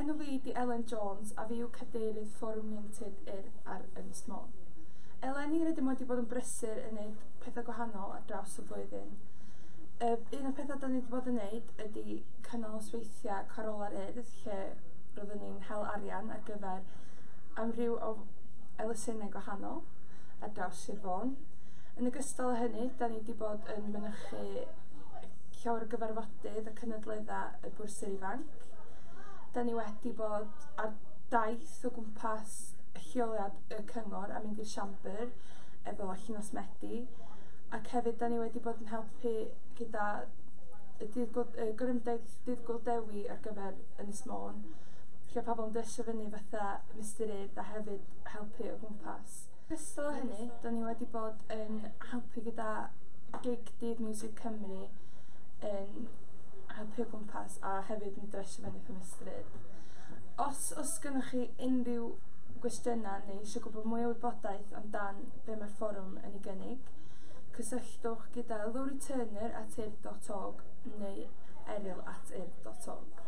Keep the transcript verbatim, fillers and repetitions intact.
Enw fi 'di Elen Jones a fi yw cadeirydd Fforwm Ieuenctid Urdd ar Ynys Môn. Eleni rydym wedi bod yn brysur yn neud pethau gwahanol ar draws y flwyddyn. Uh, un o'r pethau da ni wedi bod yn neud ydy cynnal nosweithiau Carola'r Urdd, lle roeddwn ni'n hel arian ar gyfer amryw o elusennau gwahanol ar draws Sir Fôn. Yn ogystal â hynny, da ni wedi bod yn mynychu llawer o gyfarfodydd a cynadleddau y Bwrsir Ifanc. Da ni wedi bod ar daith o gwmpas lleoliad y cyngor a mynd i'r siambr efo Llinos Medi, ac hefyd da ni wedi bod yn helpu gyda y dydd Gwyl- y gorymdaith Dydd Gŵyl Dewi ar gyfer Ynys Môn, lle pobl yn dresio fyny fatha Mistar Urdd a hefyd helpu o gwmpas. Ogystal â hynny, da ni wedi bod yn helpu gyda gig Dydd Miwsig Cymru, yn helpu o gwmpas a hefyd yn dresio fyny fatha Mistar Urdd. Os oes gennych chi unrhyw gwestiynau neu eisiau gwybod mwy o wybodaeth amdan be mae'r fforwm yn ei gynnig, cysylltwch gyda Lowri Turner at urdd dot org neu Eryl at urdd dot org.